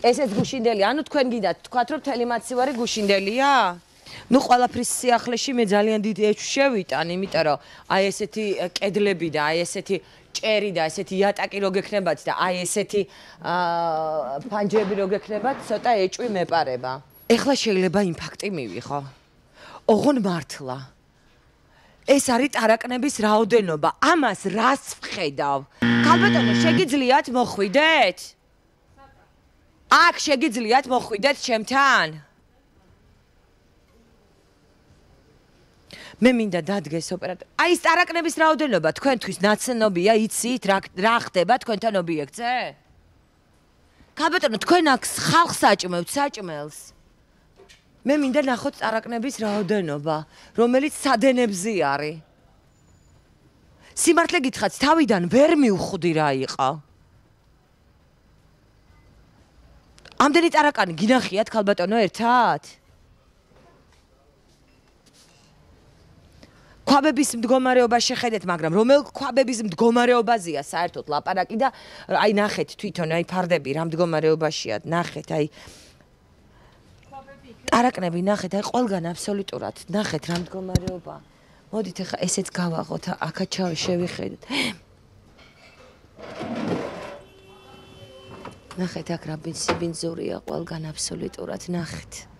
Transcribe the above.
ესეც გუშინდელი, ანუ თქვენ გინდათ თქვათ რომ მთელი მაცივარი გუშინდელია? ნუ ყველაფრის სიახლეში მე ძალიან დიდ ეჭვს შევიტან, იმიტომ რომ აი ესეთი კედლები და აი ესეთი ჭერი და ესეთი იატაკი რო გექნებათ და აი ესეთი ფანჯრები რო გექნებათ, ცოტა ეჭვი მეპარება. ეხლა შეიძლება იმპაქტი მივიღო. ოღონ მართლა. ეს არის ტარაკნების რაოდენობა. ამას რას ვხედავ? ქალბატონო, შეგიძლიათ მოხვიდეთ? აქ შეგიძლიათ მოხვიდეთ ჩემთან? მე მინდა დადგეს ოპერატორი. აი ეს ტარაკნების რაოდენობა თქვენთვის ნაცნობია, იცით რა ხდება თქვენთან ობიექტზე? ქალბატონო, თქვენ აქ ხალხს საჭმევთ, საჭმელს. მე მინდა ნახოთ ტარაკნების რაოდენობა, რომელიც სადენებზე არის. სიმართლე გითხრათ, თავიდან ვერ მივხვდი რა იყო. ამდენი ტარაკანი გინახიათ ქალბატონო ერთად? ქვაბების მდგომარეობა შეხედეთ, მაგრამ რომელ ქვაბების მდგომარეობაზეა საერთოდ ლაპარაკი და აი ნახეთ თვითონ აი ფარდები რა მდგომარეობაშია, ნახეთ აი ტარაკნები ნახეთ, აი ყველგან აბსოლუტურად ნახეთ რა მდგომარეობა. მოდით ახლა ესეც გავაღოთ, აქაც შევიხედეთ. ნახეთ აქ რა ბინძურია ყველგან აბსოლუტურად ნახეთ.